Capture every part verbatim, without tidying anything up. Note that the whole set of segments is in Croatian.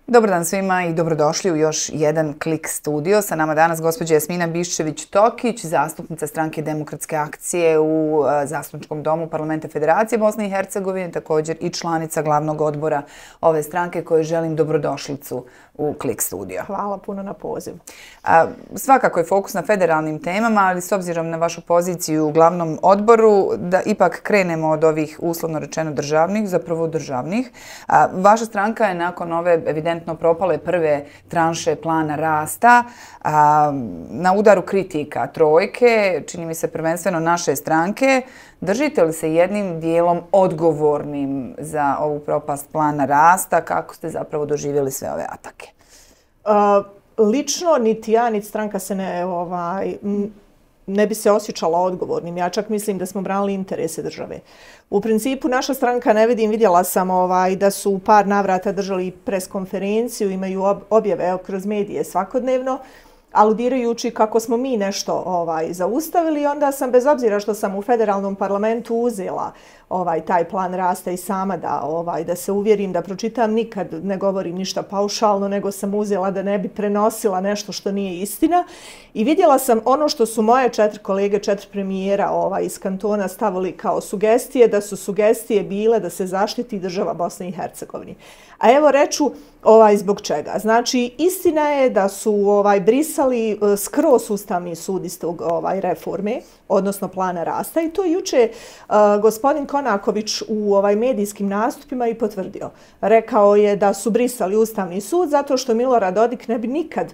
Dobar dan svima i dobrodošli u još jedan Klik studio. Sa nama danas gospođa Jasmina Biščević-Tokić, zastupnica Stranke demokratske akcije u Zastupničkom domu Parlamenta Federacije Bosne i Hercegovine, također i članica glavnog odbora ove stranke kojoj želim dobrodošlicu u Klik studio. Hvala puno na poziv. A, svakako je fokus na federalnim temama, ali s obzirom na vašu poziciju u glavnom odboru, da ipak krenemo od ovih uslovno rečeno državnih, zapravo državnih. A, vaša stranka je nakon ove evidentno propale prve tranše plana rasta a, na udaru kritika trojke, čini mi se prvenstveno naše stranke. Držite li se jednim dijelom odgovornim za ovu propast plana rasta? Kako ste zapravo doživjeli sve ove atake? Uh, lično, niti ja, niti stranka se ne, ovaj, ne bi se osjećala odgovornim. Ja čak mislim da smo branili interese države. U principu, naša stranka, ne vidim, vidjela sam ovaj, da su u par navrata držali pres konferenciju, imaju objave evo, kroz medije svakodnevno, aludirajući kako smo mi nešto ovaj, zaustavili. Onda sam, bez obzira što sam u federalnom parlamentu uzela ovaj, taj plan rasta i sama da, ovaj, da se uvjerim, da pročitam, nikad ne govorim ništa paušalno, nego sam uzela da ne bi prenosila nešto što nije istina. I vidjela sam ono što su moje četiri kolege, četiri premijera ovaj, iz kantona stavili kao sugestije, da su sugestije bile da se zaštiti država Bosne i Hercegovine. A evo reću ovaj, zbog čega. Znači, istina je da su ovaj, brisali skroz Ustavni sud iz tog ovaj, reforme, odnosno plana rasta, i to juče uh, gospodin Konaković u ovaj, medijskim nastupima i potvrdio. Rekao je da su brisali Ustavni sud zato što Milorad Dodik ne bi nikad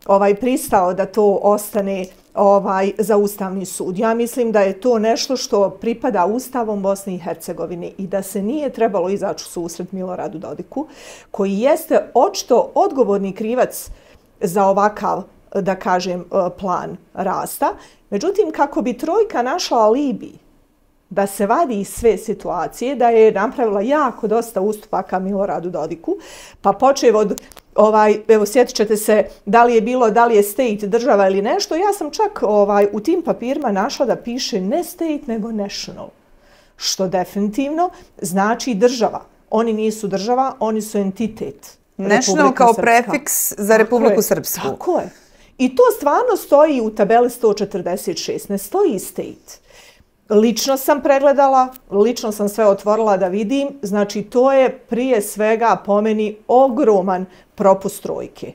ovaj, pristao da to ostane ovaj, za Ustavni sud. Ja mislim da je to nešto što pripada Ustavom Bosne i Hercegovine i da se nije trebalo izaći u susret Miloradu Dodiku, koji jeste očito odgovorni krivac za ovakav, da kažem, plan rasta. Međutim, kako bi trojka našla alibi da se vadi iz sve situacije, da je napravila jako dosta ustupaka Miloradu Dodiku, pa počev od, ovaj, evo sjetit ćete se da li je bilo, da li je state država ili nešto, ja sam čak ovaj, u tim papirima našla da piše ne state nego national, što definitivno znači država. Oni nisu država, oni su entitet. National kao prefiks za Republiku Srpsku. Tako je. I to stvarno stoji u tabeli sto četrdeset šest, ne stoji state. Lično sam pregledala, lično sam sve otvorila da vidim, znači to je prije svega po meni ogroman propust trojke.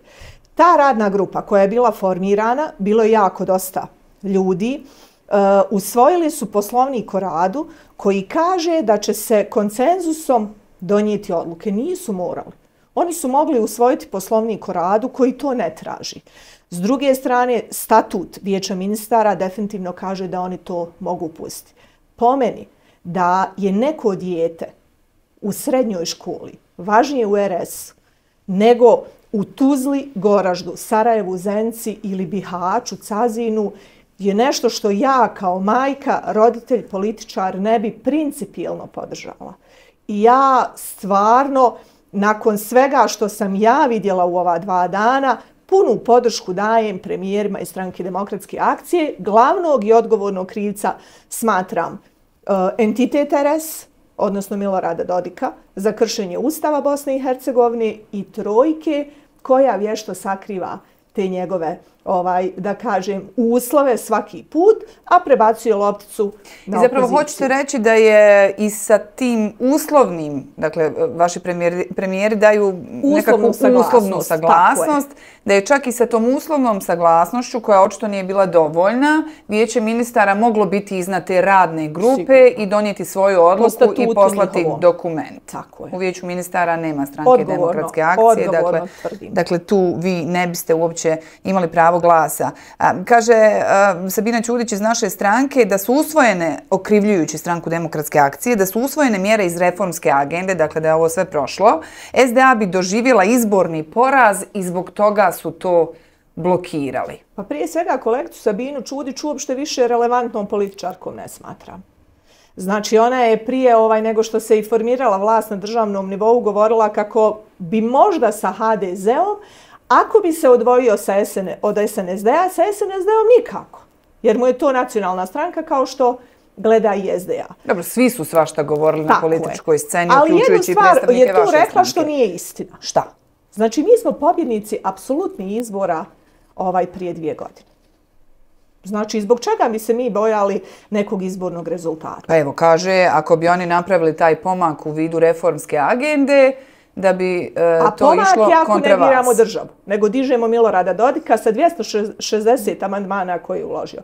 Ta radna grupa koja je bila formirana, bilo je jako dosta ljudi, uh, usvojili su poslovnik o radu koji kaže da će se konsenzusom donijeti odluke. Nisu morali. Oni su mogli usvojiti poslovnik o radu koji to ne traži. S druge strane, statut Vijeća ministara definitivno kaže da oni to mogu pustiti. Po meni, da je neko dijete u srednjoj školi važnije u er es nego u Tuzli, Goraždu, Sarajevu, Zenci ili Bihaću, Cazinu, je nešto što ja kao majka, roditelj, političar ne bi principijelno podržala. I ja stvarno, nakon svega što sam ja vidjela u ova dva dana, punu podršku dajem premijerima iz Stranke demokratske akcije. Glavnog i odgovornog krivca smatram uh, entitet er es, odnosno Milorada Dodika, za kršenje Ustava Bosne i Hercegovine i trojke koja vješto sakriva te njegove, ovaj, da kažem, uslove svaki put, a prebacuje lopticu na opoziciju. I zapravo hoćete reći da je i sa tim uslovnim, dakle, vaši premijeri, premijeri daju nekakvu uslovnu saglasnost, da je čak i sa tom uslovnom saglasnošću, koja očito nije bila dovoljna, Vijeće ministara moglo biti iznad te radne grupe Sigurno. I donijeti svoju odluku i poslati njihovo. Dokument. Tako je. U Vijeću ministara nema Stranke odgovorno, demokratske akcije, dakle, dakle tu vi ne biste uopće imali pravo glasa. A, kaže a, Sabina Ćudić iz naše stranke da su usvojene, okrivljujući Stranku demokratske akcije, da su usvojene mjere iz reformske agende, dakle da je ovo sve prošlo. es de a bi doživjela izborni poraz i zbog toga su to blokirali. Pa prije svega kolegicu Sabinu Ćudić uopšte više relevantnom političarkom ne smatram. Znači ona je prije ovaj, nego što se i formirala vlast na državnom nivou govorila kako bi možda sa ha de zeom, ako bi se odvojio sa es en, od es en es de-a, sa es en es de-om nikako. Jer mu je to nacionalna stranka kao što gleda i es de a. Dobro, svi su svašta govorili Tako na političkoj sceni, ali uključujući i predstavnike vaše stranke. Ali jednu stvar je tu rekla što nije istina. Šta? Znači, mi smo pobjednici apsolutnih izbora ovaj, prije dvije godine. Znači, zbog čega bi se mi bojali nekog izbornog rezultata? Pa evo, kaže, ako bi oni napravili taj pomak u vidu reformske agende, da bi e, to išlo kontra vas. A pomak jako ne diramo državu, nego dižemo Milorada Dodika sa dvjesto šezdeset amandmana koje je uložio.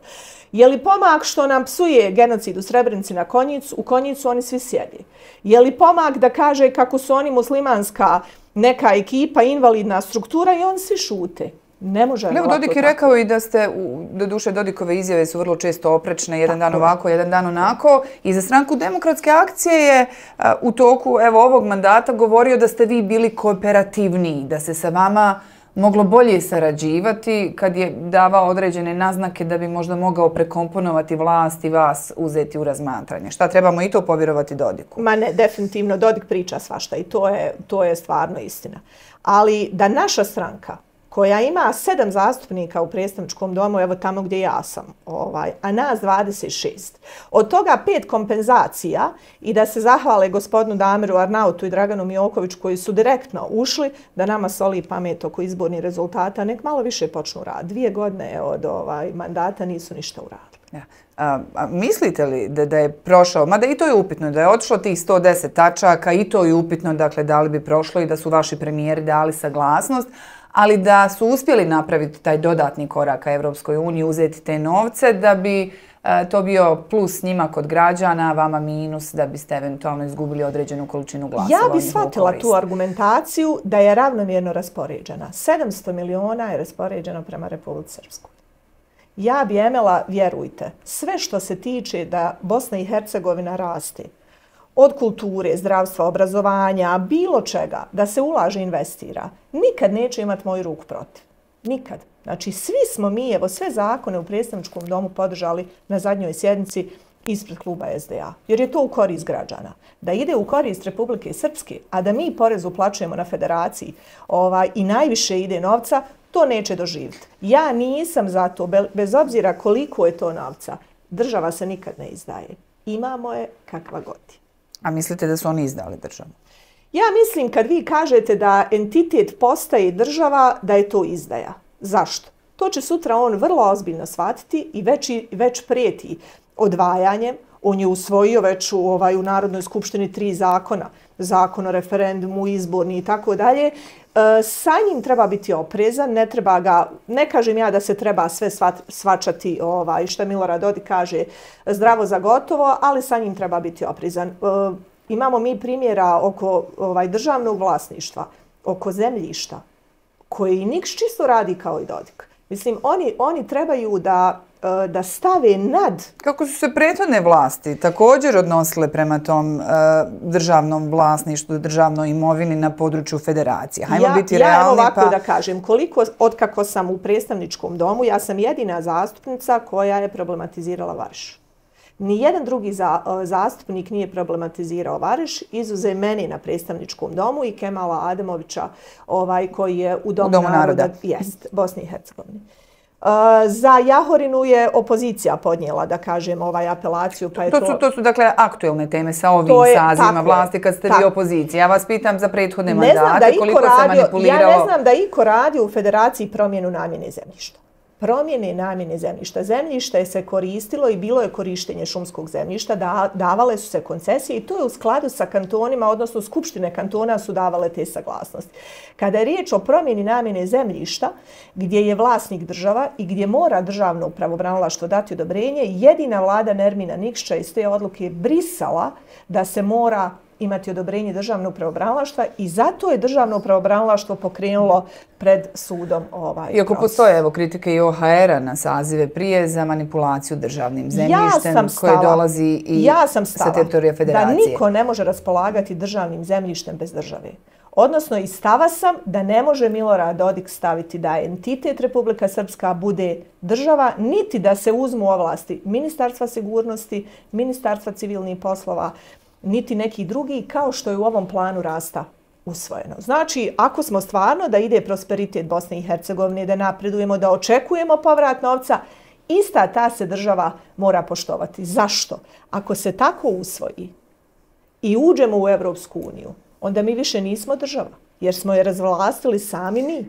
Je li pomak što nam psuje genocid u Srebrenici na Konjicu? U Konjicu oni svi sjedi. Je li pomak da kaže kako su oni muslimanska neka ekipa, invalidna struktura i oni svi šute? Ne može. Evo, Dodik je rekao i da ste, do duše Dodikove izjave su vrlo često oprečne, jedan dan ovako, jedan dan onako. I za stranku Demokratske akcije je u toku evo, ovog mandata govorio da ste vi bili kooperativniji, da se sa vama moglo bolje sarađivati kad je davao određene naznake da bi možda mogao prekomponovati vlast i vas uzeti u razmatranje. Šta, trebamo i to povjerovati Dodiku? Ma ne, definitivno. Dodik priča svašta i to je, to je stvarno istina. Ali da naša stranka koja ima sedam zastupnika u predstavničkom domu, evo tamo gdje ja sam, ovaj, a nas dvadeset šest. Od toga pet kompenzacija i da se zahvale gospodinu Damiru Arnautu i Draganu Mijokoviću koji su direktno ušli da nama soli pamet oko izbornih rezultata, nek malo više počnu raditi. Dvije godine od ovaj, mandata nisu ništa uradili. Ja. A, a mislite li da, da je prošao, mada i to je upitno, da je otišlo tih sto deset tačaka, i to je upitno, dakle, da li bi prošlo i da su vaši premijeri dali saglasnost, ali da su uspjeli napraviti taj dodatni korak ka Evropskoj uniji, uzeti te novce, da bi e, to bio plus njima kod građana, vama minus, da biste eventualno izgubili određenu količinu glasova. Ja bih shvatila tu argumentaciju da je ravnomjerno raspoređena. sedamsto miliona je raspoređeno prema Republici Srpskoj. Ja bi Emela, vjerujte, sve što se tiče da Bosna i Hercegovina raste, od kulture, zdravstva, obrazovanja, bilo čega, da se ulaže i investira, nikad neće imati moju ruku protiv. Nikad. Znači, svi smo mi, evo, sve zakone u predstavničkom domu podržali na zadnjoj sjednici ispred kluba S D A, jer je to u korist građana. Da ide u korist Republike Srpske, a da mi porez uplaćujemo na federaciji ovaj, i najviše ide novca, to neće doživjeti. Ja nisam za to, bez obzira koliko je to novca, država se nikad ne izdaje. Imamo je kakva god je. A mislite da su oni izdali državu? Ja mislim kad vi kažete da entitet postaje država, da je to izdaja. Zašto? To će sutra on vrlo ozbiljno shvatiti i već, već prijeti odvajanjem. On je usvojio već u, ovaj, u Narodnoj skupštini tri zakona. Zakon o referendumu, izborni i tako dalje. Sa njim treba biti oprezan, ne treba ga, ne kažem ja da se treba sve svačati, ovaj, što Milorad Dodik kaže, zdravo za gotovo, ali sa njim treba biti oprezan. E, imamo mi primjera oko ovaj, državnog vlasništva, oko zemljišta, koji niks čisto radi kao i Dodik. Mislim, oni, oni trebaju da da stave nad... Kako su se prethodne vlasti također odnosile prema tom uh, državnom vlasništvu, državnoj imovini na području federacije? Hajmo ja, biti ja realni. Ja ovako pa... da kažem, koliko, otkako sam u predstavničkom domu, ja sam jedina zastupnica koja je problematizirala Varš. Nijedan drugi za, uh, zastupnik nije problematizirao Varš, izuzev meni na predstavničkom domu i Kemala Ademovića, ovaj, koji je u Domu, u Domu naroda, naroda. Jest, Bosni i Hercegovini. Uh, za Jahorinu je opozicija podnijela, da kažem, ovaj apelaciju. Pa je to, to... Su, to su, dakle, aktuelne teme sa ovim je, sazivima vlasti kad ste vi opozicija. Ja vas pitam za prethodne ne mandate, koliko radio, se manipuliralo... Ja ne znam da iko radi u Federaciji promjenu namjene zemljišta. Promjene namjene zemljišta. Zemljište se koristilo i bilo je korištenje šumskog zemljišta, da, davale su se koncesije i to je u skladu sa kantonima, odnosno skupštine kantona su davale te saglasnosti. Kada je riječ o promjeni namjene zemljišta, gdje je vlasnik država i gdje mora državno pravobranilaštvo dati odobrenje, jedina vlada Nermina Nikšića iz te odluke je brisala da se mora imati odobrenje državnog pravobranilaštva i zato je državno pravobranilaštvo pokrenulo pred sudom ovaj proces. Iako postoje evo, kritike i O H R-a na sazive prije za manipulaciju državnim zemljištem ja koje dolazi i ja sam sa teritorija federacije. Da niko ne može raspolagati državnim zemljištem bez države. Odnosno, i stava sam da ne može Milorad Dodik staviti da entitet Republika Srpska bude država, niti da se uzmu ovlasti Ministarstva sigurnosti, Ministarstva civilnih poslova, niti neki drugi, kao što je u ovom planu rasta usvojeno. Znači, ako smo stvarno da ide prosperitet Bosne i Hercegovine, da napredujemo, da očekujemo povrat novca, ista ta se država mora poštovati. Zašto? Ako se tako usvoji i uđemo u Evropsku uniju, onda mi više nismo država, jer smo je razvlastili sami mi.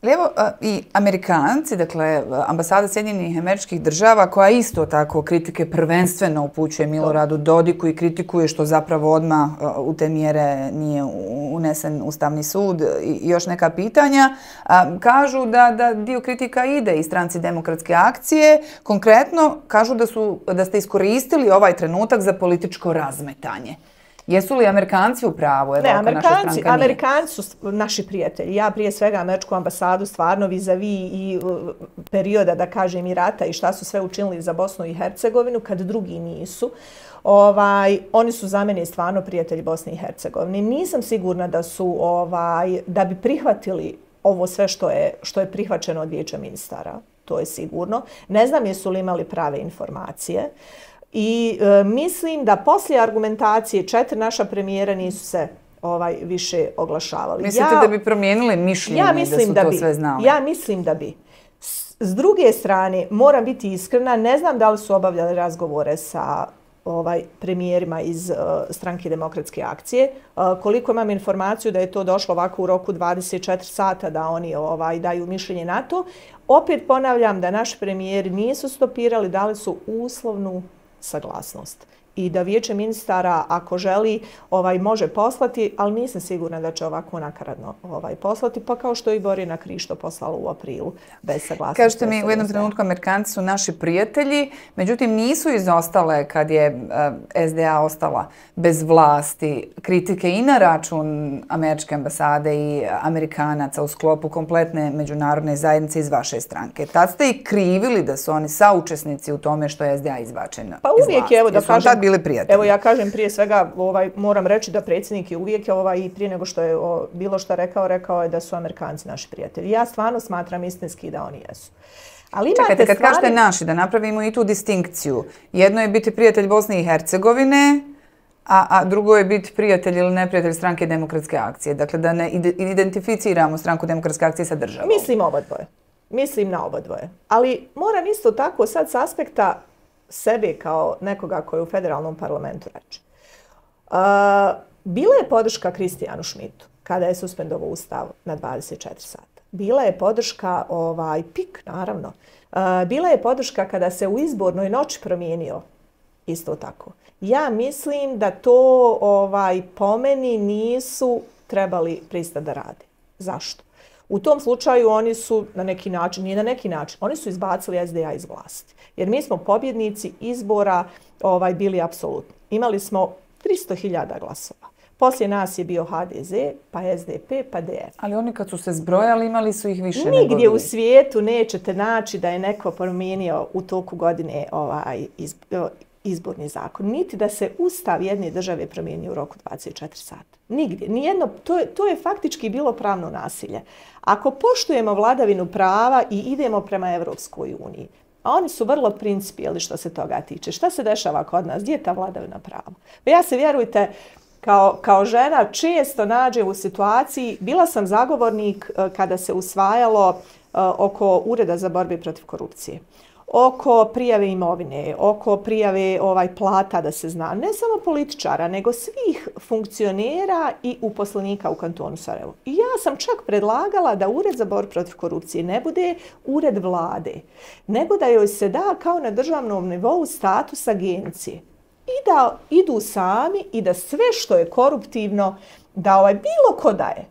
Ali evo i Amerikanci, dakle ambasada Sjedinjenih Američkih Država koja isto tako kritike prvenstveno upućuje Miloradu Dodiku i kritikuje što zapravo odmah u te mjere nije unesen Ustavni sud i još neka pitanja, kažu da, da dio kritika ide i stranci Demokratske akcije. Konkretno kažu da, su, da ste iskoristili ovaj trenutak za političko razmetanje. Jesu li Amerikanci u pravu? Evo, ne, ako Amerikanci, naša stranka nije? Amerikanci su naši prijatelji. Ja prije svega Američku ambasadu stvarno vis-a-vis i uh, perioda, da kažem, i rata i šta su sve učinili za Bosnu i Hercegovinu, kad drugi nisu. Ovaj, oni su za mene stvarno prijatelji Bosne i Hercegovine. Nisam sigurna da su, ovaj, da bi prihvatili ovo sve što je, što je prihvaćeno od Vijeća ministara. To je sigurno. Ne znam jesu li imali prave informacije. I e, mislim da poslije argumentacije četiri naša premijera nisu se ovaj više oglašavali. Mislite ja, da bi promijenili mišljenje ja mislim da su da to bi, sve znali? Ja mislim da bi. S, s druge strane, moram biti iskrena, ne znam da li su obavljali razgovore sa ovaj premijerima iz uh, stranke Demokratske akcije. Uh, koliko imam informaciju da je to došlo ovako u roku dvadeset četiri sata da oni ovaj daju mišljenje na to. Opet ponavljam da naši premijeri nisu stopirali, dali su uslovnu saglasnost i da Vijeće ministara ako želi ovaj može poslati, ali nisam sigurna da će ovako nakaradno ovaj poslati, pa kao što i Borjana Krišto poslala u aprilu bez saglasnosti. Kažete mi, u jednom trenutku Amerikanci su naši prijatelji, međutim nisu izostale kad je uh, S D A ostala bez vlasti kritike i na račun Američke ambasade i Amerikanaca u sklopu kompletne međunarodne zajednice iz vaše stranke. Tad ste i krivili da su oni saučesnici u tome što je S D A izbačen pa iz uvijek vlasti. Je, evo da kažem, tad bili prijatelji. Evo ja kažem prije svega, ovaj, moram reći da predsjednik je uvijek ovaj, i prije nego što je o, bilo što rekao, rekao je da su Amerikanci naši prijatelji. Ja stvarno smatram istinski da oni jesu. Ali čekajte, kad stvari... kažete naši, da napravimo i tu distinkciju. Jedno je biti prijatelj Bosne i Hercegovine, a, a drugo je biti prijatelj ili neprijatelj stranke Demokratske akcije. Dakle, da ne identificiramo stranku Demokratske akcije sa državom. Mislim oba dvoje. Mislim na oba dvoje. Ali moram isto tako sad s aspekta sebe kao nekoga koji je u federalnom parlamentu reći. Uh, bila je podrška Kristijanu Šmitu kada je suspendovao Ustav na dvadeset četiri sata. Bila je podrška ovaj, P I K, naravno. Uh, bila je podrška kada se u izbornoj noći promijenio isto tako. Ja mislim da to ovaj, po meni nisu trebali pristati da rade. Zašto? U tom slučaju oni su na neki način, nije na neki način, oni su izbacili S D A iz vlasti. Jer mi smo pobjednici izbora ovaj, bili apsolutni. Imali smo tristo hiljada glasova. Poslije nas je bio H D Z, pa S D P, pa D F. Ali oni kad su se zbrojali imali su ih više Nigdje nego vi. u svijetu nećete naći da je neko promijenio u toku godine ovaj, iz, izborni zakon. Niti da se ustav jedne države promijenio u roku dvadeset četiri sata. Nigdje. Nijedno, to, je, to je faktički bilo pravno nasilje. Ako poštujemo vladavinu prava i idemo prema Evropskoj uniji, a oni su vrlo principijelni što se toga tiče. Šta se dešava kod nas? Gdje je ta vladavina prava? Ja se, vjerujte, kao, kao žena često nađem u situaciji, bila sam zagovornik kada se usvajalo oko Ureda za borbu protiv korupcije, oko prijave imovine, oko prijave ovaj plata da se zna, ne samo političara, nego svih funkcionera i uposlenika u kantonu Sarajevo. I ja sam čak predlagala da Ured za borbu protiv korupcije ne bude ured vlade, nego da joj se da kao na državnom nivou status agencije i da idu sami i da sve što je koruptivno, da ovaj bilo ko daje.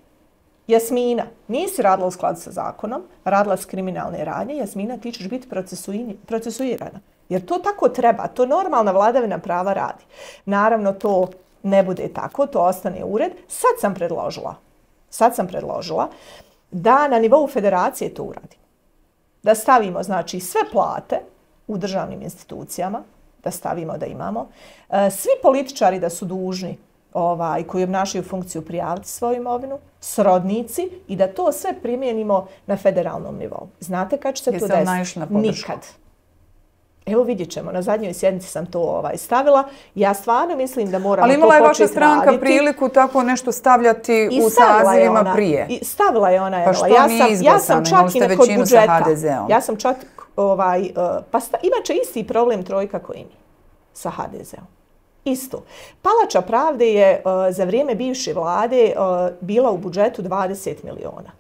Jasmina, nisi radila u skladu sa zakonom, radila s kriminalne radnje, Jasmina, ti ćeš biti procesuirana. Jer to tako treba, to normalna vladavina prava radi. Naravno, to ne bude tako, to ostane ured. Sad sam predložila, sad sam predložila da na nivou federacije to uradi. Da stavimo, znači, sve plate u državnim institucijama, da stavimo da imamo. Svi političari da su dužni ovaj, koji obnašaju funkciju prijaviti svoju imovinu, srodnici i da to sve primijenimo na federalnom nivou. Znate kad će se to desiti? Nikad. Evo vidjet ćemo, na zadnjoj sjednici sam to ovaj, stavila. Ja stvarno mislim da moramo to početi raditi. Ali imala je vaša stranka priliku tako nešto stavljati u sazivima ona, prije. I stavila je ona. Pa što ja nije sam, izglasano, ja sam čak i kod budžeta. Ja sam čak, ovaj, uh, pa sta, imat će isti problem trojka koji mi sa H D Z-om. Isto. Palača pravde je uh, za vrijeme bivše vlade uh, bila u budžetu dvadeset miliona.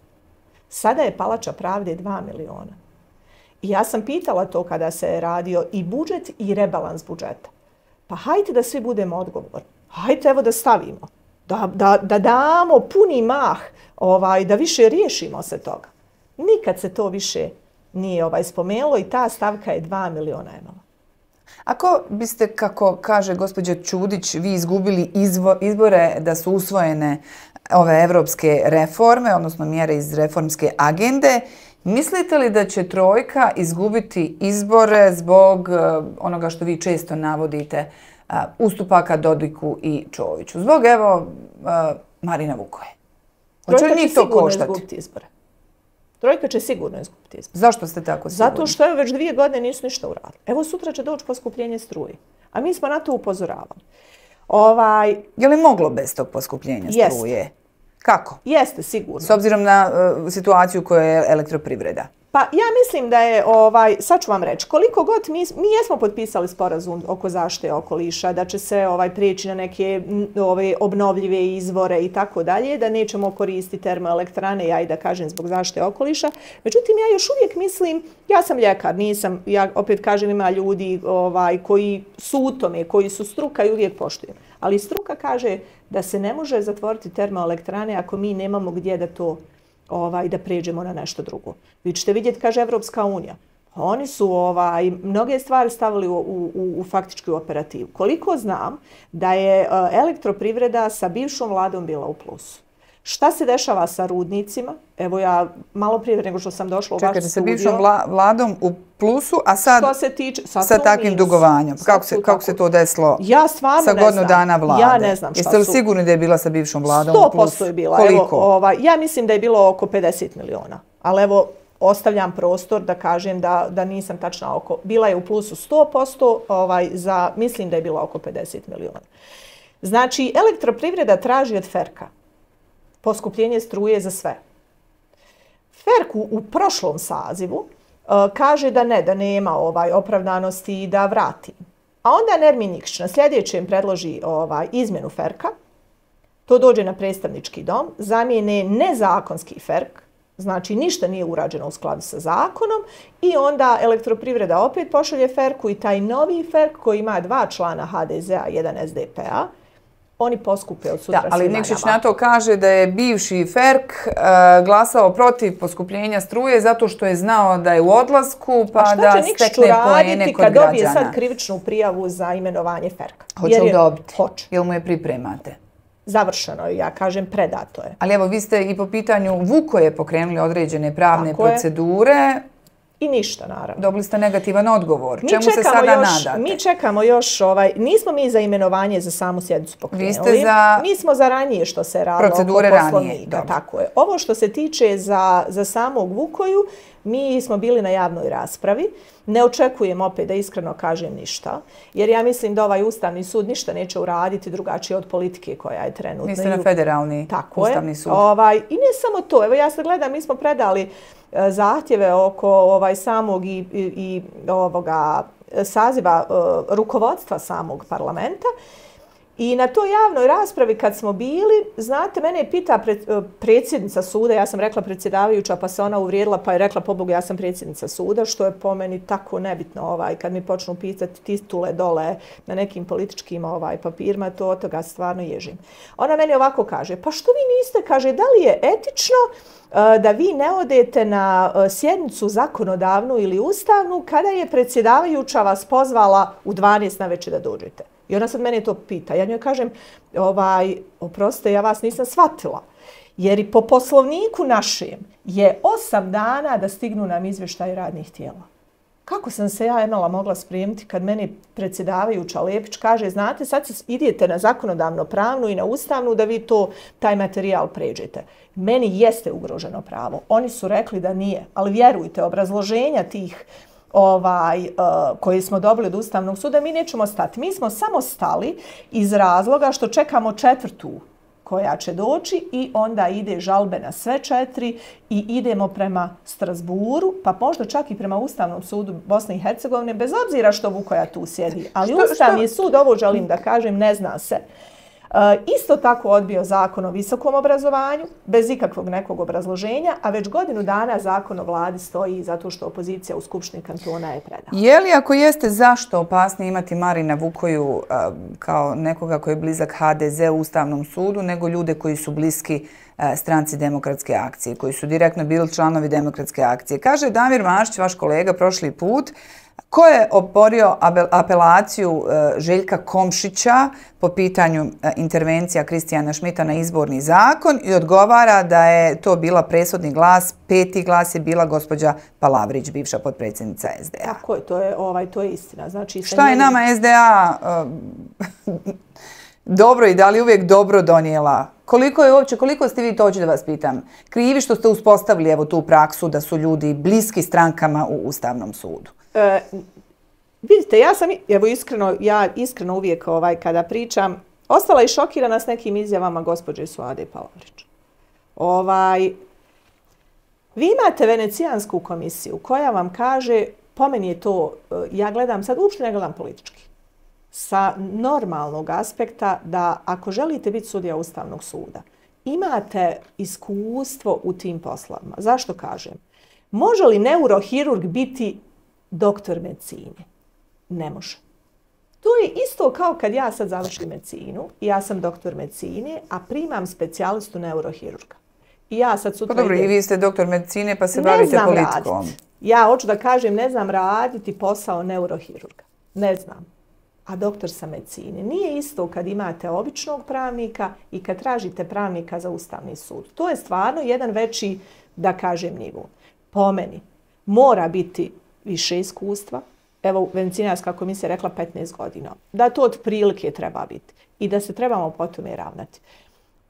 Sada je Palača pravde dva miliona. I ja sam pitala to kada se je radio i budžet i rebalans budžeta. Pa hajte da svi budemo odgovorni. Hajte evo da stavimo. Da, da, da damo puni mah, ovaj, da više riješimo se toga. Nikad se to više nije ovaj, spomenulo i ta stavka je dva miliona imala. Ako biste, kako kaže gospođa Čudić, vi izgubili izvo, izbore da su usvojene ove evropske reforme, odnosno mjere iz reformske agende, mislite li da će Trojka izgubiti izbore zbog uh, onoga što vi često navodite, uh, ustupaka Dodiku i Čoviću? Zbog, evo, uh, Marina Vukoje. Hoće li njih to koštati? Izgubiti izbore. Trojka će sigurno izgubiti izbore. Zašto ste tako sigurni? Zato što je već dvije godine nisu ništa uradili. Evo sutra će doći poskupljenje struje. A mi smo na to upozoravali. Ovaj... Je li moglo bez tog poskupljenja struje? Jeste. Kako? Jeste, sigurno. S obzirom na uh, situaciju koja je elektroprivreda. Pa ja mislim da je, ovaj, sad ću vam reći, koliko god mi, mi jesmo potpisali sporazum oko zaštite okoliša, da će se ovaj, prijeći na neke ove, obnovljive izvore i tako dalje, da nećemo koristiti termoelektrane, ja i da kažem zbog zaštite okoliša. Međutim, ja još uvijek mislim, ja sam ljekar, nisam, ja opet kažem ima ljudi ovaj, koji su u tome, koji su struka i uvijek poštujem. Ali struka kaže da se ne može zatvoriti termoelektrane ako mi nemamo gdje da to ovaj, da pređemo na nešto drugo. Vi ćete vidjeti, kaže Evropska unija. Oni su ovaj, mnoge stvari stavili u, u, u faktičku operativu. Koliko znam da je uh, elektroprivreda sa bivšom vladom bila u plusu. Šta se dešava sa rudnicima? Evo ja malo prije nego što sam došla u vaš studio. Čekajte, sa bivšom vla, vladom u plusu, a sad što se tiče, sad sa takvim minus. dugovanjem. Kako se, kako se to desilo ja sa godinu dana vlade? Ja ne znam šta Jeste li su. sigurni da je bila sa bivšom vladom sto u plusu? posto je bila. Koliko? Evo, ovaj, ja mislim da je bilo oko pedeset miliona. Ali evo, ostavljam prostor da kažem da, da nisam tačna oko. Bila je u plusu sto posto, ovaj, za, mislim da je bila oko pedeset miliona. Znači, elektroprivreda traži od Ferka poskupljenje struje za sve. Ferk u, u prošlom sazivu uh, kaže da ne, da nema ovaj opravdanosti i da vrati. A onda Nermin Nikšić na sljedećem predloži ovaj, izmjenu Ferka, to dođe na predstavnički dom, zamijene nezakonski Ferk, znači ništa nije urađeno u skladu sa zakonom i onda elektroprivreda opet pošalje Ferku i taj novi Ferk koji ima dva člana ha de zea, jedan es de pe a, oni poskupe od sutra. Da, ali Nikšić na to kaže da je bivši Ferk uh, glasao protiv poskupljenja struje zato što je znao da je u odlasku pa da stekne poene kod građana. Kad dobije sad krivičnu prijavu za imenovanje Ferka? Hoće li dobiti? Hoće. Jel mu je pripremate? Završeno je, ja kažem, predato je. Ali evo, vi ste i po pitanju Vukoje pokrenuli određene pravne Tako procedure. Je. I ništa, naravno. Dobili ste negativan odgovor. Mi Čemu se sada još, nadate? Mi čekamo još, ovaj, nismo mi za imenovanje za samu sjednicu pokrenuli. Vi ste za mi smo za ranije što se radilo procedure oko poslovnika. Ranije, tako je. Ovo što se tiče za, za samog Vukoju, mi smo bili na javnoj raspravi. Ne očekujem opet da iskreno kažem ništa, jer ja mislim da ovaj Ustavni sud ništa neće uraditi drugačije od politike koja je trenutno. Niste na federalni tako Ustavni je. sud. Ovaj, I ne samo to. Evo ja sad gledam, mi smo predali e, zahtjeve oko ovaj, samog i, i, i ovoga saziva e, rukovodstva samog parlamenta. I na toj javnoj raspravi kad smo bili, znate, mene je pita pred, predsjednica suda, ja sam rekla predsjedavajuća pa se ona uvrijedila pa je rekla pobogu ja sam predsjednica suda, što je po meni tako nebitno ovaj, kad mi počnu pisati titule dole na nekim političkim ovaj, papirima, to od toga stvarno ježim. Ona meni ovako kaže, pa što vi niste, kaže, da li je etično uh, da vi ne odete na uh, sjednicu zakonodavnu ili ustavnu kada je predsjedavajuća vas pozvala u dvanaest na večer da dođete? I ona sad mene to pita. Ja njoj kažem, ovaj, oprostite, ja vas nisam shvatila. Jer i po poslovniku našem je osam dana da stignu nam izvještaj radnih tijela. Kako sam se ja imala mogla spremiti kad meni predsjedavajuća Lepić kaže, znate, sad idete na zakonodavno pravnu i na ustavnu da vi to, taj materijal pređete. Meni jeste ugroženo pravo. Oni su rekli da nije, ali vjerujte, obrazloženja tih ovaj, uh, koji smo dobili od Ustavnog suda, mi nećemo stati. Mi smo samo stali iz razloga što čekamo četvrtu koja će doći i onda ide žalbe na sve četiri i idemo prema Strasburu, pa možda čak i prema Ustavnom sudu Bosne i Hercegovine, bez obzira što Vukoja tu sjedi. Ali što, Ustavni što? sud, ovo želim da kažem, ne zna se. E, isto tako odbio zakon o visokom obrazovanju, bez ikakvog nekog obrazloženja, a već godinu dana zakon o vladi stoji zato što opozicija u Skupštini kantona je predala. Je li, ako jeste, zašto opasnije imati Marina Vukoju a, kao nekoga koji je blizak ha de ze u Ustavnom sudu, nego ljude koji su bliski a, stranci Demokratske akcije, koji su direktno bili članovi Demokratske akcije? Kaže Damir Mašić, vaš kolega, prošli put, ko je oborio apelaciju Željka Komšića po pitanju intervencija Kristijana Šmita na izborni zakon i odgovara da je to bila presudni glas, peti glas je bila gospođa Palavrić, bivša potpredsjednica es de a. Tako je, to je, ovaj, to je istina. Znači, šta je nama es de a uh, dobro i da li uvijek dobro donijela? Koliko je uopće, koliko ste vi, to hoću da vas pitam, krivi što ste uspostavili evo tu praksu da su ljudi bliski strankama u Ustavnom sudu? E, vidite, ja sam, evo iskreno, ja iskreno uvijek ovaj, kada pričam, ostala i šokirana s nekim izjavama gospođe Suade Palavrić. Ovaj, vi imate Venecijansku komisiju koja vam kaže, po meni je to, ja gledam sad, uopšte ne gledam politički, sa normalnog aspekta da ako želite biti sudija Ustavnog suda, imate iskustvo u tim poslovima. Zašto kažem? Može li neurohirurg biti doktor medicine? Ne može. To je isto kao kad ja sad završim medicinu i ja sam doktor medicine, a primam specijalistu neurohirurga. I ja sad sutra... Pa dobro, i vi ste doktor medicine pa se bavite politikom. Raditi. Ja hoću da kažem, ne znam raditi posao neurohirurga. Ne znam. A doktor sa medicine. Nije isto kad imate običnog pravnika i kad tražite pravnika za Ustavni sud. To je stvarno jedan veći, da kažem, nivo. Po meni mora biti više iskustva. Evo, Venecijanska komisija rekla petnaest godina. Da to otprilike treba biti. I da se trebamo po tome ravnati.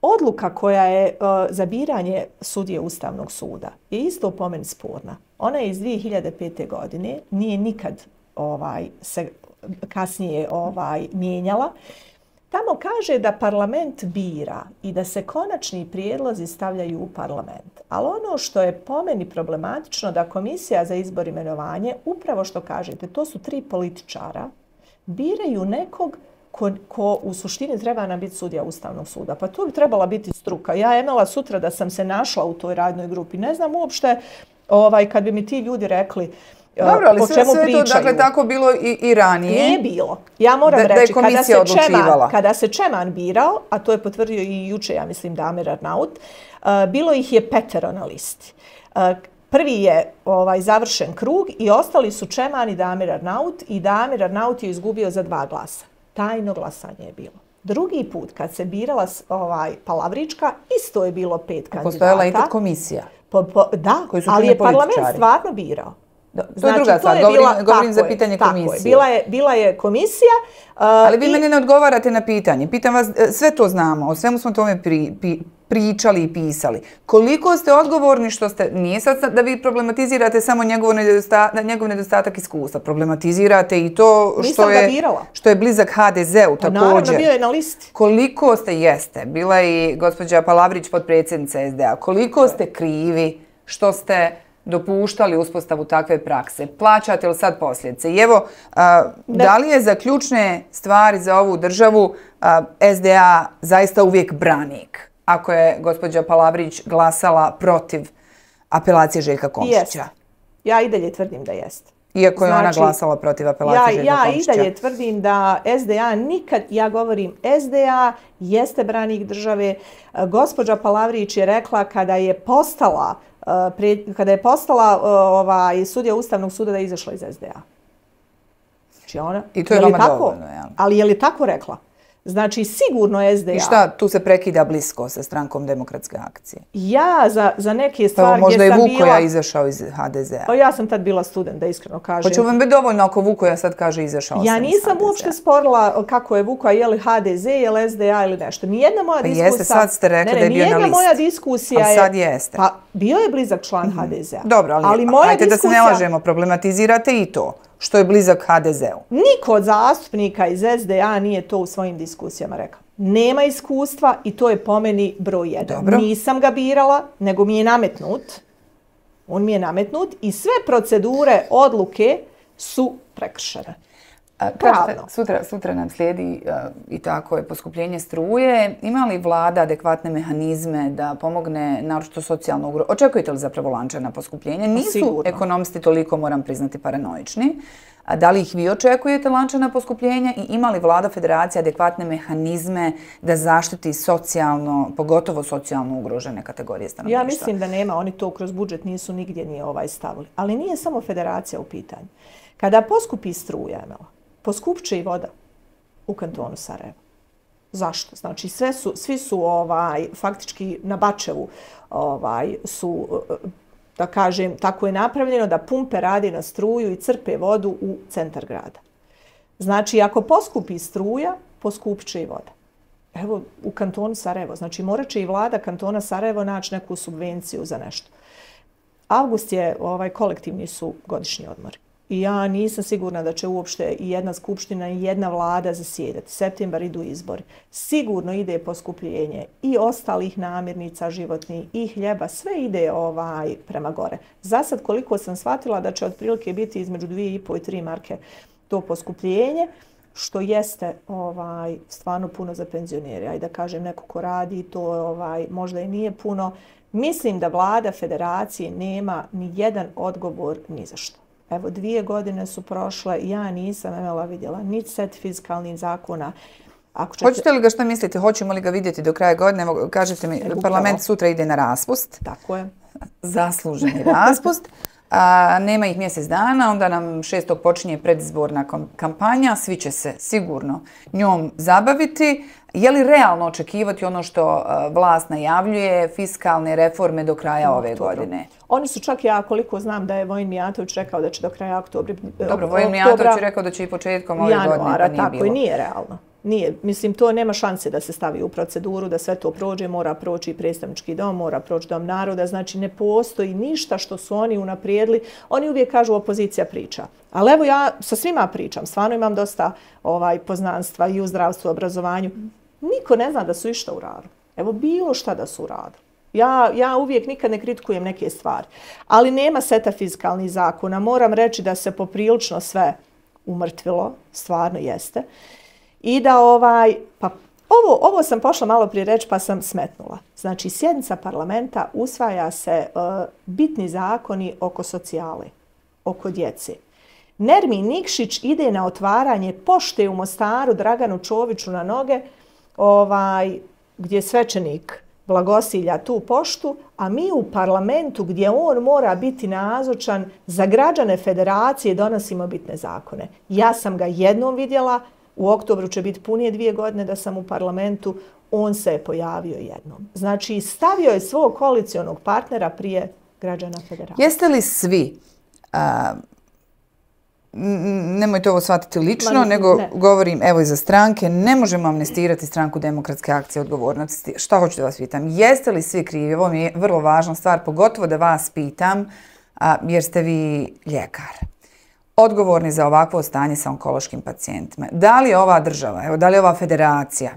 Odluka koja je uh, za biranje sudije Ustavnog suda je isto po meni sporna. Ona je iz dvije hiljade pete. godine. Nije nikad ovaj, se kasnije ovaj, mijenjala. Tamo kaže da parlament bira i da se konačni prijedlozi stavljaju u parlament. Ali ono što je po meni problematično da komisija za izbor i imenovanje, upravo što kažete, to su tri političara, biraju nekog ko, ko u suštini treba nam biti sudija Ustavnog suda. Pa to bi trebala biti struka. Ja imala sutra da sam se našla u toj radnoj grupi. Ne znam uopšte ovaj, kad bi mi ti ljudi rekli dobro, ali sve, sve to dakle, tako bilo i, i ranije. Nije bilo. Ja moram da, reći, da kada, se Čeman, kada se Čeman birao, a to je potvrdio i juče, ja mislim, Damir Arnaut, uh, bilo ih je petero na listi. Uh, prvi je ovaj, završen krug i ostali su Čeman i Damir Arnaut i Damir Arnaut je izgubio za dva glasa. Tajno glasanje je bilo. Drugi put, kad se birala ovaj, Palavrička, isto je bilo pet kandidata. Postojala i ta komisija. Po, po, da, ali je parlament stvarno birao. To znači, je druga stvar, govorim, bila, govorim za pitanje je, komisije. Je. Bila, je, bila je komisija. Uh, Ali vi i... meni ne odgovarate na pitanje. Pitam vas, sve to znamo, o svemu smo tome pri, pri, pričali i pisali. Koliko ste odgovorni što ste, nije sad da vi problematizirate samo njegov nedostatak, njegov nedostatak iskustva, problematizirate i to što je, što je blizak ha de zeu također. Naravno, bio je na listi. Koliko ste, jeste, bila je i gospođa Palavrić, potpredsjednica es de a, koliko ste krivi što ste dopuštali uspostavu takve prakse? Plaćate li sad posljedice? I evo, a, da li je za ključne stvari za ovu državu a, es de a zaista uvijek branik? Ako je gospođa Palavrić glasala protiv apelacije Željka Komšića. Jest. Ja i dalje tvrdim da jeste. Iako je znači, ona glasala protiv apelacije ja, Željka ja Komšića. Ja i dalje tvrdim da es de a nikad, ja govorim es de a jeste branik države. Gospođa Palavrić je rekla kada je postala kada je postala ovaj, sudija Ustavnog suda da je izašla iz es de a. Znači ona, I to je, je vama tako, dovoljno, ja. Ali je li tako rekla? Znači, sigurno es de a... I šta, tu se prekida blisko sa strankom Demokratske akcije? Ja za, za neke stvari gdje sam bila... Možda je Vukoja izašao iz ha de zea. O, ja sam tad bila student, da iskreno kažem. Hoće vam biti dovoljno ako Vukoja sad kaže izašao ja sam iz nisam uopšte sporila kako je Vukoja, je li ha de ze, je li es de a ili nešto. Nijedna moja pa diskusija... jeste, sad ste rekli ne, ne, da je bio na listi. Nijedna moja diskusija je... Ali sad jeste. Pa, bio je blizak član mm. ha de zea. Dobro, ali, ali moja hajte diskusija... da se ne lažemo, problematizirate i to. Što je blizak ha de zeu. Niko od zastupnika iz es de a nije to u svojim diskusijama rekao. nema iskustva i to je po meni broj jedan. Dobro. Nisam ga birala, nego mi je nametnut. On mi je nametnut i sve procedure, odluke su prekršene. Kažete, sutra, sutra nam slijedi uh, i tako je poskupljenje struje. Ima li vlada adekvatne mehanizme da pomogne naročito socijalno ugroženim? Očekujete li zapravo lančana poskupljenja? Nisu Sigurno. ekonomisti toliko, moram priznati, paranoični. A da li ih vi očekujete lančana poskupljenja i ima li vlada federacije adekvatne mehanizme da zaštiti socijalno, pogotovo socijalno ugrožene kategorije stanovništva? Ja mislim da nema, oni to kroz budžet nisu nigdje nije ovaj stavili. Ali nije samo federacija u pitanju. Kada poskupi struja, poskupće i voda u kantonu Sarajevo. Zašto? Znači sve su, svi su ovaj, faktički na Bačevu ovaj, su, da kažem, tako je napravljeno da pumpe radi na struju i crpe vodu u centar grada. Znači ako poskupi struja, poskupće i voda. Evo u kantonu Sarajevo. Znači morat će i vlada kantona Sarajevo naći neku subvenciju za nešto. Avgust je, ovaj, kolektivni su godišnji odmori. I ja nisam sigurna da će uopšte i jedna skupština i jedna vlada zasjedati. Septembar idu izbori. Sigurno ide poskupljenje i ostalih namirnica životnih i hljeba. Sve ide ovaj prema gore. Za sad koliko sam shvatila da će otprilike biti između dvije i pol i tri marke to poskupljenje, što jeste ovaj stvarno puno za penzionere. Ajde da kažem, neko ko radi, to ovaj možda i nije puno. Mislim da vlada federacije nema ni jedan odgovor ni za što. Evo, dvije godine su prošle, ja nisam imala vidjela ni set fiskalnih zakona. Ako ćete... Hoćete li ga, što mislite, hoćemo li ga vidjeti do kraja godine? Evo, kažete mi, Upravo. Parlament sutra ide na raspust. Tako je. Zasluženi raspust. A, nema ih mjesec dana, onda nam šestog počinje predizborna kampanja, svi će se sigurno njom zabaviti. Je li realno očekivati ono što vlast najavljuje, fiskalne reforme do kraja ove godine? Oni su čak, ja koliko znam da je Vojin Mijatović rekao da će do kraja oktobra... Dobro, Vojin Mijatović je rekao da će i početkom ove godine, pa nije tako bilo. I nije realno. Nije. Mislim, to nema šanse da se stavi u proceduru, da sve to prođe, mora proći predstavnički dom, mora proći dom naroda, znači ne postoji ništa što su oni unaprijedili. Oni uvijek kažu opozicija priča. Ali evo ja sa svima pričam, stvarno imam dosta ovaj, poznanstva i u zdravstvu, obrazovanju. Niko ne zna da su išta uradili. Evo bilo šta da su uradili. Ja, ja uvijek nikad ne kritikujem neke stvari. Ali nema seta fiskalnih zakona. Moram reći da se poprilično sve umrtvilo, stvarno jeste. I da ovaj, pa ovo, ovo sam pošla malo prije reći pa sam smetnula. Znači sjednica parlamenta usvaja se uh, bitni zakoni oko socijale, oko djece. Nermin Nikšić ide na otvaranje pošte u Mostaru Draganu Čoviću na noge, ovaj, gdje svećenik blagosilja tu poštu, a mi u parlamentu gdje on mora biti nazočan za građane federacije donosimo bitne zakone. Ja sam ga jednom vidjela, u oktobru će biti punije dvije godine da sam u parlamentu, on se je pojavio jednom. Znači, stavio je svog koalicionog partnera prije građana federacije. Jeste li svi, a, nemojte ovo shvatiti lično, Ma, nego ne. govorim evo i za stranke, ne možemo amnestirati stranku Demokratske akcije odgovornosti. Šta hoću da vas pitam? Jeste li svi krivi? Ovo mi je vrlo važna stvar, pogotovo da vas pitam, a, jer ste vi ljekar. Odgovorni za ovakvo stanje sa onkološkim pacijentima. Da li je ova država, evo, da li je ova federacija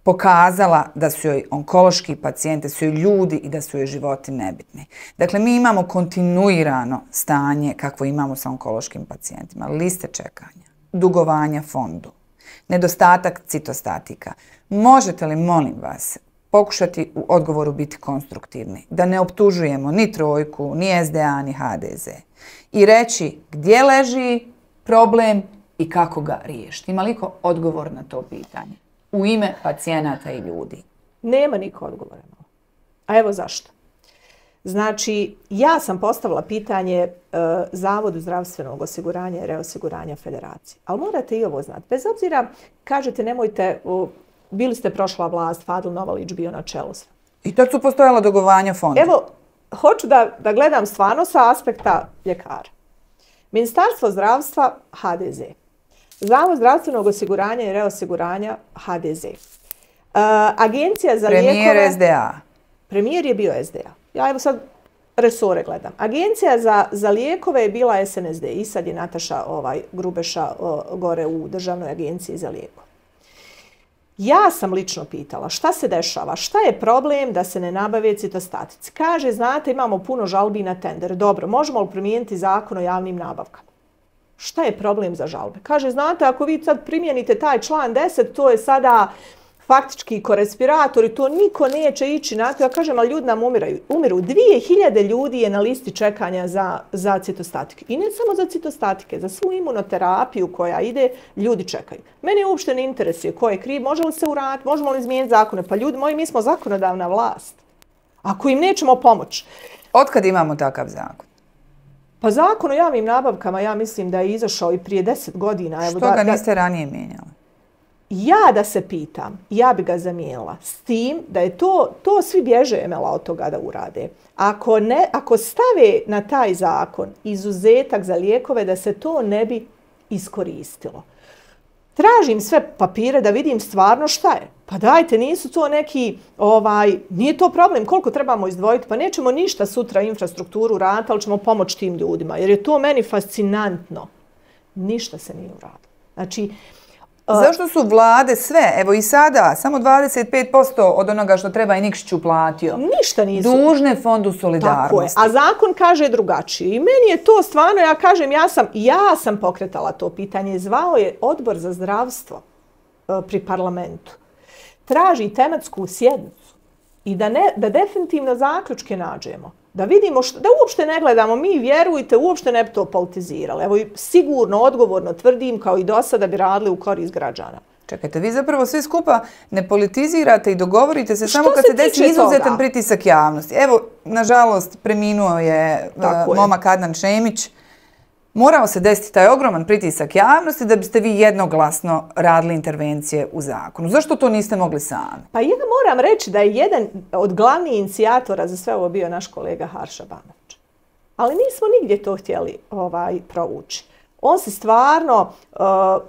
pokazala da su joj onkološki pacijenti, su joj ljudi i da su joj životi nebitni? Dakle, mi imamo kontinuirano stanje kakvo imamo sa onkološkim pacijentima. Liste čekanja, dugovanja fondu, nedostatak citostatika. Možete li, molim vas, pokušati u odgovoru biti konstruktivni, da ne optužujemo ni Trojku, ni S D A, ni H D Z i reći gdje leži problem i kako ga riješiti? Ima li ko odgovor na to pitanje u ime pacijenata i ljudi? Nema niko odgovora. A evo zašto. Znači, ja sam postavila pitanje e, Zavodu zdravstvenog osiguranja i reosiguranja federacije. Ali morate i ovo znati. Bez obzira, kažete nemojte... O, bili ste prošla vlast, Fadil Novalić bio na čelu. I tad su postojala dogovanja fonda. Evo, hoću da, da gledam stvarno sa aspekta ljekara. Ministarstvo zdravstva, H D Z. Zavod zdravstvenog osiguranja i reosiguranja, H D Z. Uh, Agencija za Premijer lijekove... Premijer S D A. Premijer je bio S D A. Ja evo sad resore gledam. Agencija za, za lijekove je bila S N S D i sad je Nataša ovaj, Grubeša o, gore u Državnoj agenciji za lijekove. Ja sam lično pitala šta se dešava, šta je problem da se ne nabave citostatici. Kaže, znate, imamo puno žalbi na tender. Dobro, možemo li primijeniti zakon o javnim nabavkama? Šta je problem za žalbe? Kaže, znate, ako vi sad primijenite taj član deset, to je sada faktički korespirator i to niko neće ići na to. Ja kažem, ali ljudi nam umiraju. Umiru. Dvije hiljade ljudi je na listi čekanja za, za citostatike. I ne samo za citostatike, za svu imunoterapiju koja ide, ljudi čekaju. Meni uopšte ne interesuje ko je kriv, može li se uraditi, možemo li izmijeniti zakone. Pa ljudi moji, mi smo zakonodavna vlast. Ako im nećemo pomoći. Otkad imamo takav zakon? Pa zakon o javnim nabavkama, ja mislim da je izašao i prije deset godina. Što ga niste ranije mijenjali? Ja da se pitam, ja bi ga zamijenila s tim da je to, to svi bježe Emela od toga da urade. Ako, ne, ako stave na taj zakon izuzetak za lijekove, da se to ne bi iskoristilo. Tražim sve papire da vidim stvarno šta je. Pa dajte, nisu to neki, ovaj, nije to problem, koliko trebamo izdvojiti, pa nećemo ništa sutra infrastrukturu raditi, ali ćemo pomoći tim ljudima, jer je to meni fascinantno. Ništa se nije uradilo. Znači, zašto su vlade sve, evo i sada, samo dvadeset pet posto od onoga što treba i Nikšić uplatio? Ništa nisu. Dužne Fondu solidarnosti. Tako je. A zakon kaže drugačije. I meni je to stvarno, ja kažem, ja sam, ja sam pokretala to pitanje. Zvao je Odbor za zdravstvo pri parlamentu. Traži tematsku sjednicu i da, ne, da definitivno zaključke nađemo. Da vidimo, što, da uopšte ne gledamo, mi vjerujte, uopšte ne bi to politizirali. Evo, sigurno, odgovorno tvrdim, kao i do sada bi radili u korist građana. Čekajte, vi zapravo svi skupa ne politizirate i dogovorite se samo kad se desi izuzetan pritisak javnosti. Evo, nažalost, preminuo je momak Adnan Šemić. Morao se desiti taj ogroman pritisak javnosti da biste vi jednoglasno radili intervencije u zakonu. Zašto to niste mogli sami? Pa ja moram reći da je jedan od glavnih inicijatora za sve ovo bio naš kolega Harša Banović. Ali nismo nigdje to htjeli ovaj, provući. On se stvarno, uh,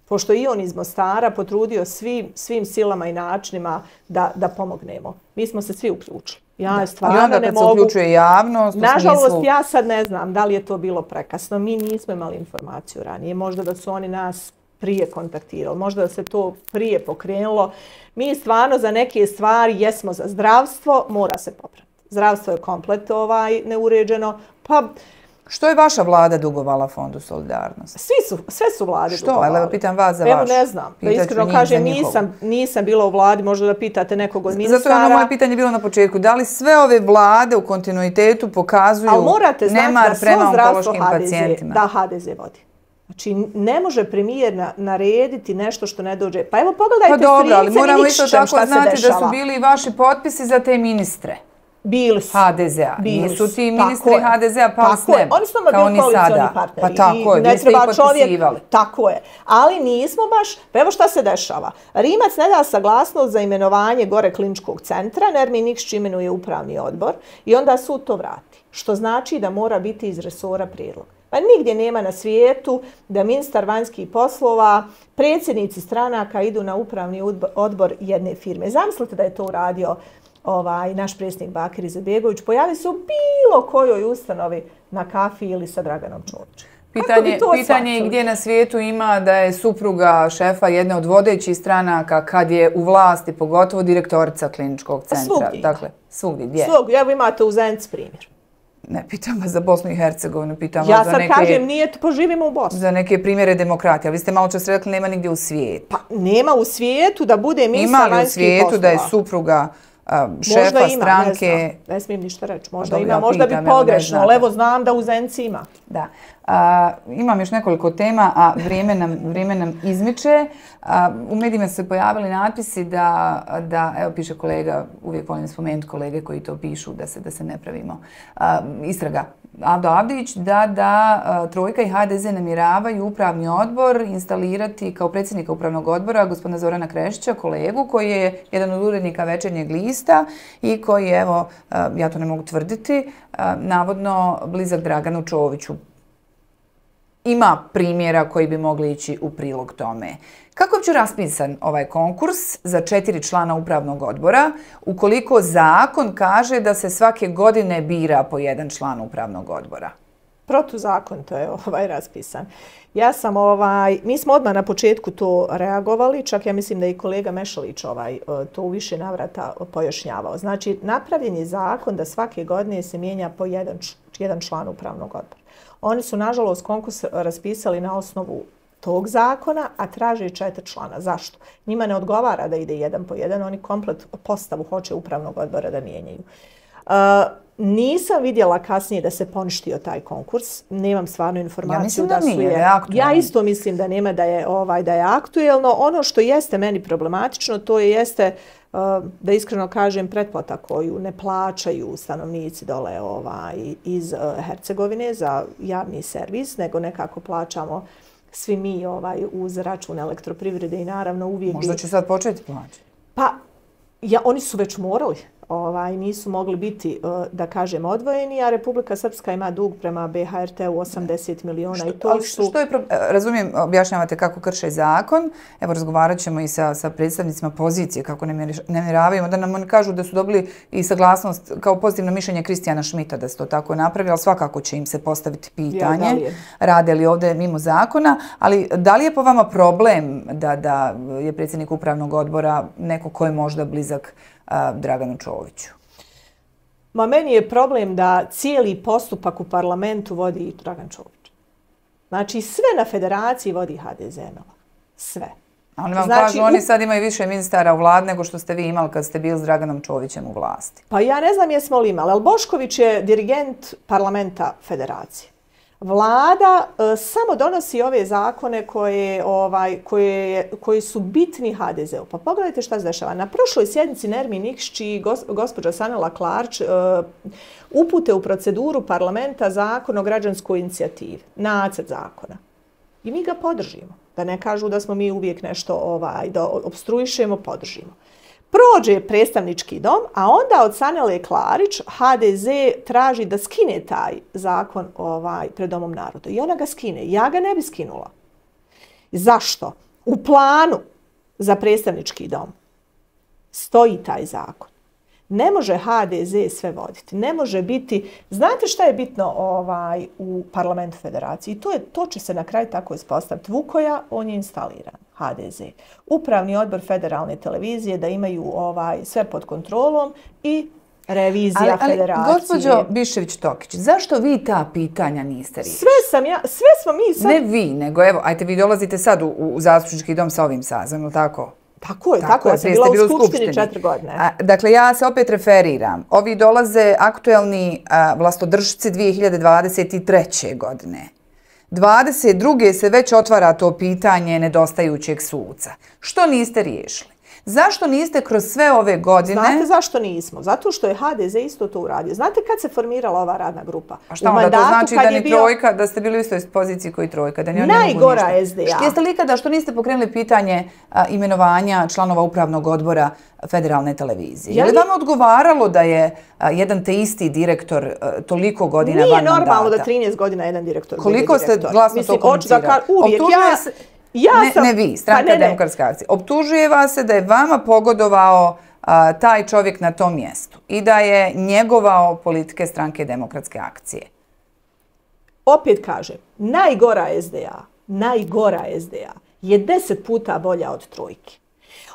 pošto i on iz Mostara, potrudio svim, svim silama i načinima da, da pomognemo. Mi smo se svi uključili. Ja stvarno I onda kad ne se mogu... uključuje javnost... Nažalost, smislu... ja sad ne znam da li je to bilo prekasno. Mi nismo imali informaciju ranije. Možda da su oni nas prije kontaktirali. Možda da se to prije pokrenulo. Mi stvarno za neke stvari jesmo za zdravstvo, mora se popraviti. Zdravstvo je komplet ovaj, neuređeno. Pa... Što je vaša vlada dugovala Fondu solidarnosti? Svi su, sve su vlade Što? dugovali. Evo pitam vas za Evo vašu. ne znam. Da iskreno kažem, nisam, nisam bila u vladi, možda da pitate nekog od ministara. Zato je ono moje pitanje bilo na početku. Da li sve ove vlade u kontinuitetu pokazuju nemar prema onkološkim pacijentima? Da, ha de ze vodi. Znači, ne može premijer narediti nešto što ne dođe. Pa evo pogledajte pa dobro, ali moramo isto tako znati da su bili i vaši potpisi za te ministre. Bili su. ha de zea. Nisu ti ministri tako ha de zea pali s neba. Oni su nama bili koalicioni partneri. Pa tako je, vi ste ih potpisivali. Tako je. Ali nismo baš, pa evo šta se dešava. Rimac ne da saglasnost za imenovanje gore kliničkog centra, Nermin Nikšić imenuje upravni odbor i onda sud to vrati. Što znači da mora biti iz resora prijedlog. Pa nigdje nema na svijetu da ministar vanjskih poslova, predsjednici stranaka idu na upravni odbor jedne firme. Zamislite da je to uradio ovaj, naš predsjednik Bakir Izetbegović, pojavi se u bilo kojoj ustanovi na kafi ili sa Draganom Čovićem. Pitanje, pitanje je gdje na svijetu ima da je supruga šefa jedne od vodećih stranaka kad je u vlasti, pogotovo direktorica kliničkog centra. Svugdje. Dakle, svugdje, gdje? Svugdje, evo imate u Zenici primjer. Ne, pitam vas za Bosnu i Hercegovinu, pitam ja vas za neke... Ja sad kažem, nije, poživimo u Bosni. Za neke primjere demokratije, ali vi ste malo čas rekli nema nigdje u svijetu. Pa nema u svijetu da bude ministar vanjskih poslova. Ima li u svijetu da je supruga šefa ima, stranke... Ne, znam, ne smijem ništa reći. Možda ima, ja možda pitam, bi pogrešno, ali evo znam da u Zenici ima. Da. A, imam još nekoliko tema, a vrijeme nam, vrijeme nam izmiče. A, u medijima su se pojavili natpisi da, da, evo piše kolega, uvijek volim spomenuti kolege koji to pišu, da se, da se ne pravimo. A, istraga Avdo Avdić da, da a, Trojka i ha de ze namjeravaju upravni odbor instalirati kao predsjednika upravnog odbora gospodina Zorana Krešića, kolegu koji je jedan od urednika Večernjeg lista i koji je, evo, a, ja to ne mogu tvrditi, a, navodno blizak Draganu Čoviću. Ima primjera koji bi mogli ići u prilog tome. Kako je uopće raspisan ovaj konkurs za četiri člana upravnog odbora, ukoliko zakon kaže da se svake godine bira po jedan član upravnog odbora? Protuzakonito je ovaj raspisan. Ja sam ovaj, mi smo odmah na početku to reagovali, čak ja mislim da je i kolega Mešalić ovaj, to u više navrata pojašnjavao. Znači, napravljen je zakon da svake godine se mijenja po jedan, jedan član upravnog odbora. Oni su, nažalost, konkurs raspisali na osnovu tog zakona, a traže četiri člana. Zašto? Njima ne odgovara da ide jedan po jedan, oni komplet postavu hoće upravnog odbora da mijenjaju. Uh, Nisam vidjela kasnije da se poništio taj konkurs. Nemam stvarno informaciju ja da, da su nije, je. Da ja isto mislim da nema da je ovaj da je aktuelno. Ono što jeste meni problematično, to je jeste uh, da iskreno kažem pretplata koju ne plaćaju stanovnici dole ovaj iz uh, Hercegovine za javni servis, nego nekako plaćamo svi mi ovaj uz račun elektroprivrede i naravno uvijek možda će sad početi plaćati. Pa ja, oni su već morali. Ovaj, nisu mogli biti, da kažem, odvojeni, a Republika Srpska ima dug prema B H R T-u osamdeset miliona. Što, I to su... što je, razumijem, objašnjavate kako krše zakon, evo razgovarat ćemo i sa, sa predstavnicima pozicije, kako ne namjeravaju, da nam oni kažu da su dobili i saglasnost kao pozitivno mišljenje Kristijana Šmita da se to tako napravi, ali svakako će im se postaviti pitanje, ja, li rade li ovdje mimo zakona, ali da li je po vama problem da, da je predsjednik upravnog odbora neko ko je možda blizak Draganu Čoviću? Ma meni je problem da cijeli postupak u parlamentu vodi Dragan Čović. Znači sve na federaciji vodi H D Z Nova. Sve. A oni vam znači, kažu, oni sad imaju više ministara u vladi nego što ste vi imali kad ste bili s Draganom Čovićem u vlasti. Pa ja ne znam jesmo li imali, ali Bošković je dirigent parlamenta federacije. Vlada e, samo donosi ove zakone koje, ovaj, koje, koji su bitni H D Z-u. Pa pogledajte šta se dešava. Na prošloj sjednici Nermin Nikšić i gos, gospođa Sanela Klarč e, upute u proceduru parlamenta zakon o građanskoj inicijativi. Nacrt zakona. I mi ga podržimo. Da ne kažu da smo mi uvijek nešto ovaj, da obstruišemo, podržimo. Prođe predstavnički dom, a onda od Sanele Klarić H D Z traži da skine taj zakon ovaj, pred Domom naroda. I ona ga skine. Ja ga ne bi skinula. Zašto? U planu za predstavnički dom stoji taj zakon. Ne može H D Z sve voditi. Ne može biti... Znate šta je bitno ovaj, u parlamentu federacije? I to, je, to će se na kraju tako ispostaviti. Vukoja, on je instaliran. H D Z. Upravni odbor federalne televizije da imaju ovaj, sve pod kontrolom i revizija ali, ali, federacije. Gospođo Biščević-Tokić, zašto vi ta pitanja niste riješili? Sve sam ja, sve smo mi sad... Ne vi, nego evo, ajte vi dolazite sad u, u zastupnički dom sa ovim sazivom, ili tako? Tako je, tako, tako je. Ja sam bila u skupštini, skupštini četiri godine. A, dakle, ja se opet referiram. Ovi dolaze aktuelni a, vlastodržci dvije hiljade dvadeset treće. godine. dvadeset druge se već otvara to pitanje nedostajućeg suca. Što niste riješili? Zašto niste kroz sve ove godine... Znate zašto nismo? Zato što je H D Z isto to uradio. Znate kad se formirala ova radna grupa? A šta onda to znači da ni bio... trojka, da ste bili u istoj poziciji koji trojka? Da ni oni najgora ne mogu S D A. Jeste li ikada što niste pokrenuli pitanje a, imenovanja članova upravnog odbora federalne televizije? Ja je li vam odgovaralo da je a, jedan te isti direktor a, toliko godina van mandata? Nije normalno da trinaest godina jedan direktor koliko bude direktor. Ste glasno Mislim, to komunicirali? Ka... Uvijek ja... Se... Ja ne, sam... ne vi, Stranka pa ne, ne. Demokratske akcije. Optužuje vas se da je vama pogodovao a, taj čovjek na tom mjestu i da je njegovao politike Stranke Demokratske akcije. Opet kažem, najgora S D A, najgora S D A je deset puta bolja od trojke.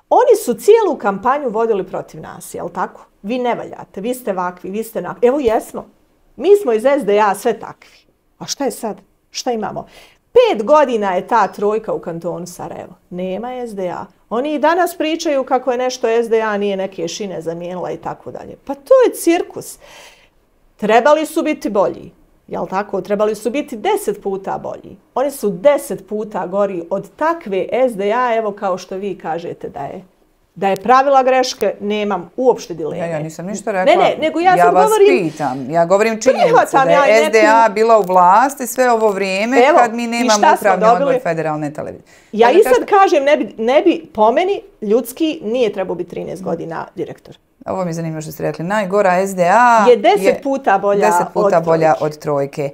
Oni su cijelu kampanju vodili protiv nas, jel tako? Vi ne valjate, vi ste vakvi, vi ste nakvi. Evo jesmo. Mi smo iz S D A sve takvi. A šta je sad? Šta imamo? Pet godina je ta trojka u kantonu Sarajevo. Nema S D A. Oni i danas pričaju kako je nešto S D A nije neke šine zamijenila i tako dalje. Pa to je cirkus. Trebali su biti bolji. Jel tako? Trebali su biti deset puta bolji. Oni su deset puta gori od takve S D A, evo kao što vi kažete da je. Da je pravila greške, nemam uopšte dileme. Ja, ja nisam ništa rekla. Ne, ne, nego ja, ja sad vas govorim... pitam. Ja govorim činjenicu da je ja S D A neku... bila u vlasti sve ovo vrijeme evo, kad mi nemamo upravni odbor federalne televizije. Ja i sad šta... kažem, ne bi, ne bi po meni ljudski nije trebao biti trinaest godina direktor. Ovo mi je zanimljivo što ste rekli. Najgora S D A je deset puta bolja, deset puta od, bolja trojke. od trojke.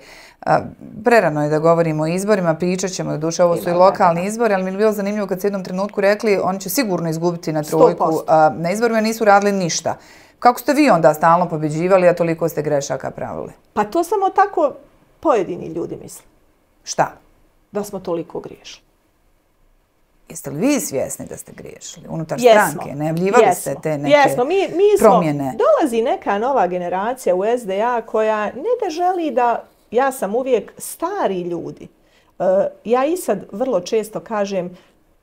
A, prerano je da govorimo o izborima, pričat ćemo, doduše ovo su i lokalni izbori, ali mi je bilo zanimljivo kad su jednom trenutku rekli oni će sigurno izgubiti na trojku, a, na izborima nisu radili ništa. Kako ste vi onda stalno pobeđivali, a toliko ste grešaka pravili? Pa to samo tako pojedini ljudi misle. Šta? Da smo toliko griješili. Jeste li vi svjesni da ste griješili unutar Jesmo. stranke? Najavljivali Jesmo. ste te neke Jesmo. Mi, mi smo, promjene? Dolazi neka nova generacija u S D A koja ne da želi da, ja sam uvijek stari ljudi. Uh, ja i sad vrlo često kažem,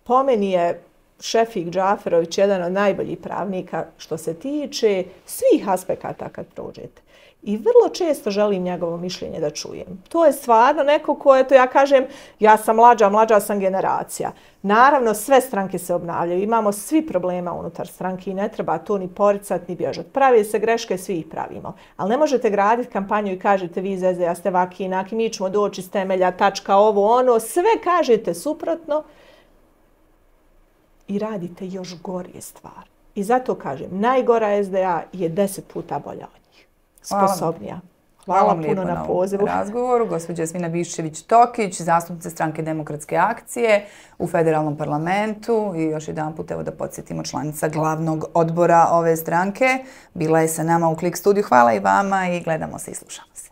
po meni je Šefik Džaferović jedan od najboljih pravnika što se tiče svih aspekata kad prođete. I vrlo često želim njegovo mišljenje da čujem. To je stvarno neko ko je to, ja kažem, ja sam mlađa, mlađa sam generacija. Naravno, sve stranke se obnavljaju, imamo svi problema unutar stranke i ne treba to ni poricati, ni bježati. Pravi se greške, svi ih pravimo. Ali ne možete graditi kampanju i kažete vi iz S D A ste vaki, inaki, mi ćemo doći s temelja, tačka, ovo, ono, sve kažete suprotno i radite još gorije stvari. I zato kažem, najgora S D A je deset puta bolja od njih. Sposobnija. Hvala, Hvala puno na pozivu. razgovoru. Gospođa Jasmina Biščević-Tokić, zastupnica stranke Demokratske akcije u federalnom parlamentu i još jedan put evo da podsjetimo članica glavnog odbora ove stranke. Bila je sa nama u Klik studiju. Hvala i vama i gledamo se i slušamo se.